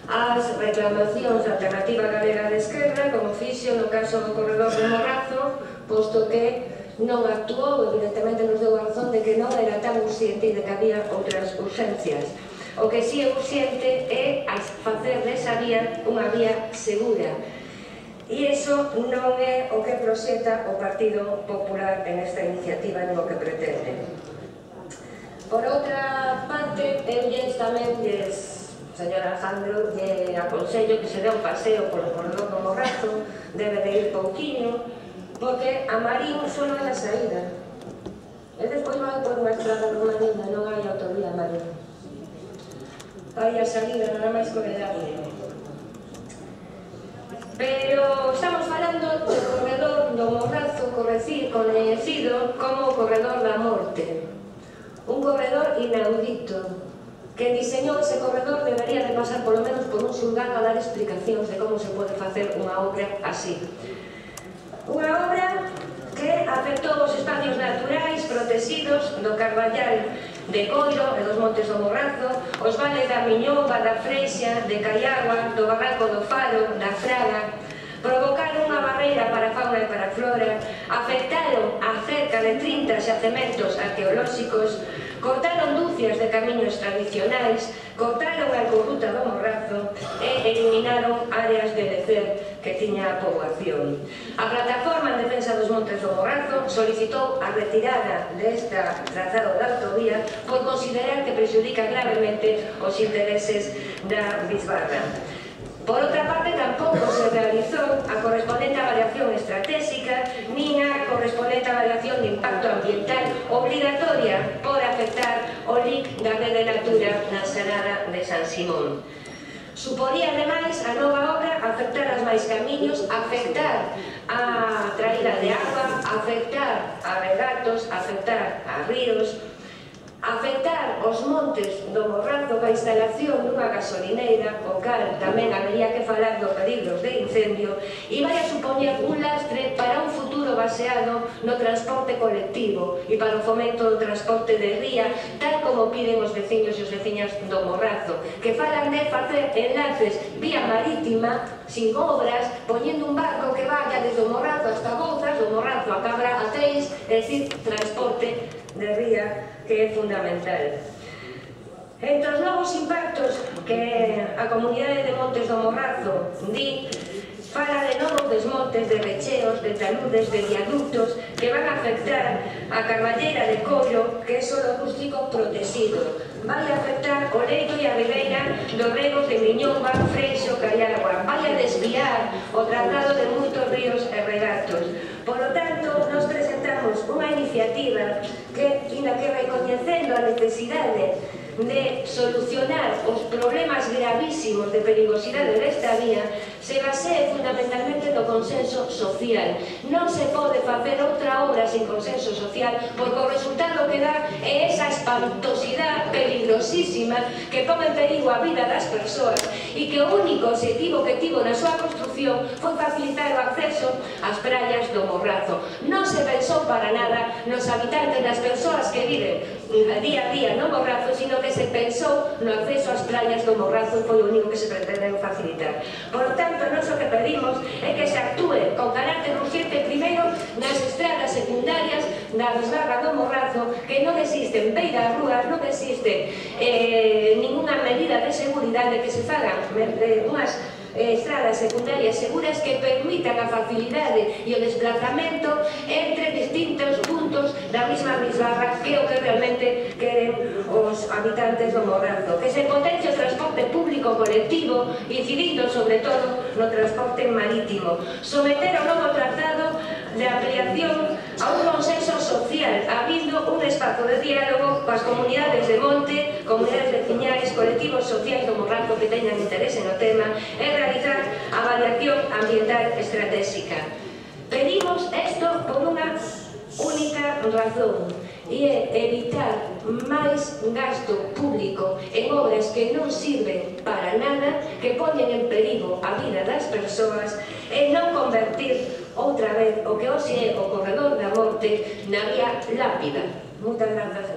as reclamacións da Alternativa Galega de Esquerda, como fixo no caso do corredor de Morrazo, posto que non actuou, evidentemente nos deu a razón de que non era tan urxente e de que había outras urxencias. O que si é urxente é facer desa vía unha vía segura. E iso non é o que proxecta o Partido Popular en esta iniciativa nin o que pretende. Por outra parte, eu tamén señor Alejandro, lle aconsello que se dé un paseo polo corredor do Morrazo, debe de ir pouquiño, porque a Marín só non é a saída. E despois vai por unha estrada romanina, non hai autovía a Marín. Hai a saída, nada máis corredable. Pero estamos falando do corredor do Morrazo, coñecido como o corredor da morte. Un corredor inaudito. Quen diseñou ese corredor debería de pasar polo menos por un xulgado a dar explicacións de como se pode facer unha obra así. Unha obra que afectou os espacios naturais protegidos do Carballal de Coiro e dos Montes do Morrazo, os vales da Miñomba, da Freixa, de Caiagua, do Barranco do Faro, da Fraga, provocaron unha barreira para a fauna e para a flora, afectaron a cerca de 30 xacementos arqueolóxicos, cortaron dúcias de camiños tradicionais, cortaron a corruta do Morrazo e eliminaron áreas de lecer que tiña a poboación. A plataforma en defensa dos Montes do Morrazo solicitou a retirada desta trazado da autovía por considerar que prexudica gravemente os intereses da bisbarra. Por outra parte, tampouco se realizou a correspondente avaliación estratégica nin a correspondente avaliación de impacto ambiental obrigatoria por afectar o LIC da Rede Natura na Xanada de San Simón. Suporía, ademais, a nova obra afectar as máis camiños, afectar a traída de agua, afectar a regatos, afectar a ríos, afectar os Montes do Morrazo coa instalación dunha gasolineira, o cal tamén habería que falar dos peligros de incendio, e vai a supoñer un lastre para un futuro baseado no transporte colectivo e para o fomento do transporte de ría, tal como piden os veciños e os veciñas do Morrazo, que falan de facer enlaces vía marítima, sin obras, poñendo un barco que vaya desde o Morrazo hasta Bouzas, do Morrazo a Cabra a Teis, é dicir, transporte de ría, que é fundamental. Entre os novos impactos que a comunidade de Montes do Morrazo di, fala de novos desmontes, de recheos, de taludes, de viaductos que van a afectar a Carballeira de Coiro, que é solo rústico protegido. Vai a afectar o leito e a ribeira dos regos de Miñomba, Freixo, Caiagua. Vai a desviar o tratado de moitos ríos e regatos. Por lo tanto, nos presentamos unha iniciativa que, recoñecendo a necesidade de solucionar os problemas gravísimos de perigosidade desta vía, se basee fundamentalmente no consenso social. Non se pode facer outra obra sin consenso social, porque o resultado que dá é esa espantosidade peligrosísima que pon en perigo a vida das persoas e que o único objetivo que tivo na súa construción foi facilitar o acceso ás praias do Morrazo. Non se pensou para nada nos habitantes, nas persoas que viven día a día no Morrazo, sino que se pensou no acceso ás praias do Morrazo e foi o único que se pretendeu facilitar. Por lo tanto, nós o que pedimos é que se actúe con carácter urgente primeiro nas estradas secundarias da bisbarra do Morrazo, que non existen beiras rúas, non existe ninguna medida de seguridade, que se fagan unhas estradas secundarias seguras que permitan a facilidade e o desplazamento entre distintos puntos da mesma bisbarra, que é o que realmente queren os habitantes do Morrazo. Que se potencie o transporte público colectivo, incidindo sobre todo no transporte marítimo. Someter o novo trazado de ampliación a un consenso social, habindo un espazo de diálogo coas comunidades de monte, comunidades veciñais, colectivos sociais do Morrazo que teñan interese no tema, e realizar a avaliación ambiental estratégica. Pedimos isto por unha única razón, e é evitar máis gasto público en obras que non sirven para nada, que poñen en perigo a vida das persoas, e non convertir outra vez o que hoxe é o corredor da morte na vía lápida. Moitas grazas.